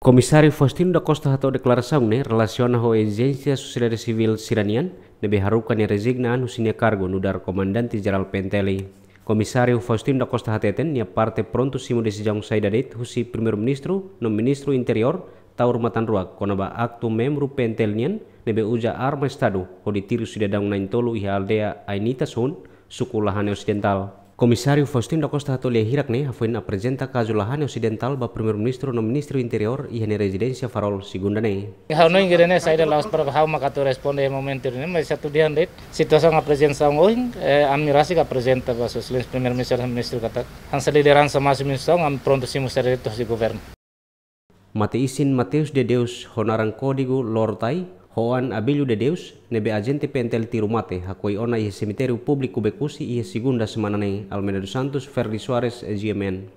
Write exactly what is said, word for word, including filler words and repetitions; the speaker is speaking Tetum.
Komisáriu Faustino da Costa hato'o deklarasaun ne'e relasiona ho ezijénsia sosiedade sivíl sira-nian ne'ebé haruka nia rezigna an husi nia kargu nu'udar Komandante Jerál P N T L. Komisáriu Faustino da Costa hateten nia parte prontu simu desizaun saida de'it husi Primeiru-Ministru no Ministru Interiór Taur Matan Ruak kona-ba aktu membru P N T L nian ne'ebé uza arma Estadu hodi tiru sidadaun na'in-tolu iha aldeia Ainitas Hun, suku Lahane Osidentál. Komisáriu Faustino da Costa hato'o lia hirak ne'e hafoin aprezenta kazu Lahane Osidentál ba Primeiru-Ministru no Ministru Interiór iha nia rezidénsia Farol, Segunda ne'e. Ha'u hanoin ida-ne'e saida la'ós para ha'u mak atu responde iha momentu ne'e, mas atu dehan de'it situasaun aprezentasaun ohin, eh, ami rasik aprezenta ba Sua Exelénsia Primeiru-Ministru, Ministru katak hanesan lideransa másimu instituisaun, ami prontu simu servisu husi governu. Mate-isin Mateus de Deus ho naran kódigu Lortai, ho oan Abílio de Deus, ne'ebé ajente P N T L tiru mate, hakoi ona iha semitériu públiku Bekusi iha Segunda semana ne'e, Almeida dos Santos, Ferdi Soares, G M N.